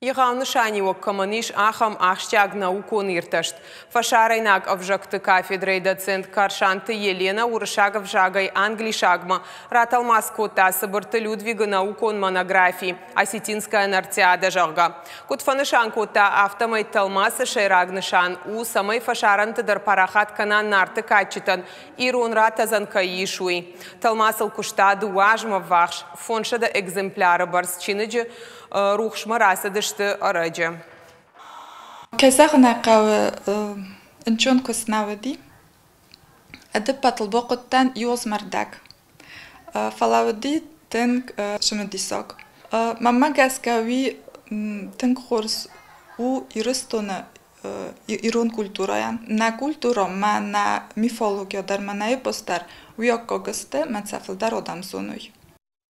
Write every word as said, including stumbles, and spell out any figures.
Егъау нысаниуӕг кӕмӕн ис, ахӕм ахсджиаг наукон иртӕст. Фӕсарӕйнаг ӕвзӕгты кафедрӕйы доцент Карсанты Еленӕ уырыссаг ӕвзагӕй англисагмӕ ратӕлмац кодта Цыбырты Людвигы наукон монографи Осетинская Нартиада, зӕгъгӕ. Куыд фӕнысан кодта, афтӕмӕй тӕлмацы сӕйраг нысан у, цӕмӕй фӕсарӕнты дӕр парахат кӕна Нарты кадджытӕн ирон ратӕдзӕн кӕй ис, уый. Тӕлмацыл куыста дыууӕ азмӕ ввахс, фондзсӕдӕ экземпляры бӕрц чиныджы рухсмӕ рацыдысты ӕрӕджы. Кӕй зӕгъын ӕй хъӕуы, ӕнцон куыст нӕ уыди. Ӕдӕппӕтыл бахъуыдтӕн иу азмӕ рдӕг. Фӕлӕ уыди тынг цымыдисаг. Мӕнмӕ гӕсгӕ уый тынг хорз у Ирыстоны ирон культурӕйӕн. Нӕ культурӕ ма нӕ мифология дӕр ма нӕ эпос дӕр уый аккаг сты, мӕ сӕ фылдӕр адӕм зоной.